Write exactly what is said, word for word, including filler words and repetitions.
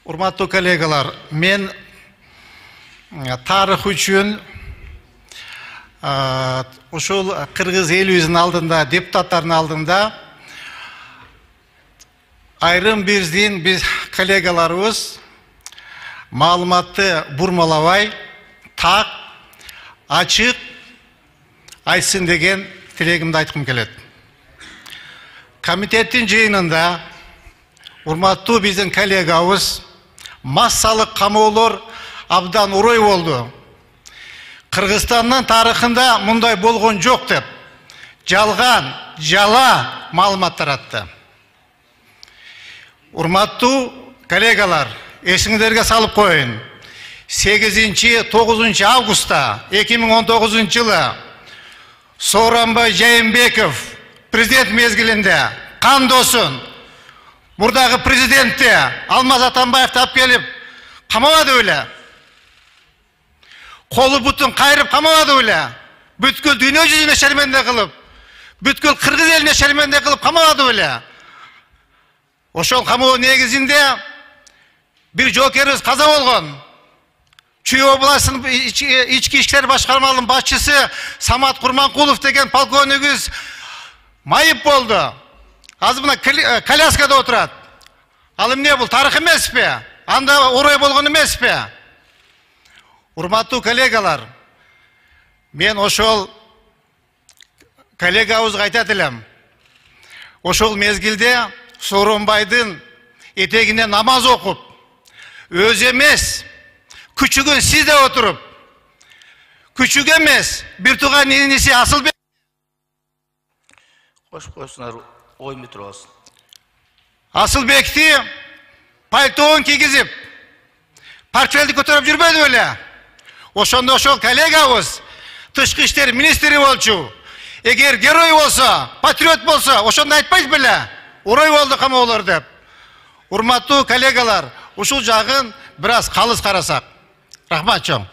Урматтуу коллегалар, мен тарых үчүн ушул кыргыз элибиздин алдында, депутаттардын алдында айрым биздин биз коллегаларыбыз маалыматты бурмалабай, так, ачык айтсын деген тилегимди айткым келет. Комитеттин жыйынында урматтуу биздин коллегабыз массалык камоолор абдан урой болду. Кыргызстандын тарыхында мындай болгон жок деп жалган, жала маалымат таратты. Урматтуу коллегалар, эсиңиздерге салып коеюн. сегизинчи тогузунчу августта эки миң он тогузунчу жылы Сооронбай Жээнбеков президент мезгилинде кандосун мурдагы президентти Алмаз Атамбаевди алып келип камабады беле? Колу бутун кайрып камабады беле? Бүткүл дүйнө жүзүнө шерменде кылып, бүткүл кыргыз элине шерменде кылып камабады беле? Ошол камоо негизинде бир жоокерибиз каза болгон. Чүй областынын ички иштер башкармалынын башчысы Самат Курманкулов деген полковнигибиз майып болду. Азыр мына коляскада отурат. Ал эмне бул, тарых эмеспи? Анда орой болгон эмеспи? Урматтуу коллегалар, мен ошол коллегабызга айтат элем. Ошол мезгилде Сооронбайдын этегине намаз окуп, өзү эмес, күчүгүн сизде отуруп, күчүк эмес, бир тууган иниси Асылбек Кош койсуңар, оймой турабыз. Асылбекти пальтоон кийгизип, портфелди көтөрүп жүрбөдү беле? Ошондо ошол коллегабыз тышкы иштер министри болчу. Эгер герой болсо, патриот болсо, ошондо айтпайт беле? Урой болду камоолор деп. Урматтуу коллегалар, ушул жагын бир аз калыс карасак. Рахмат чоң.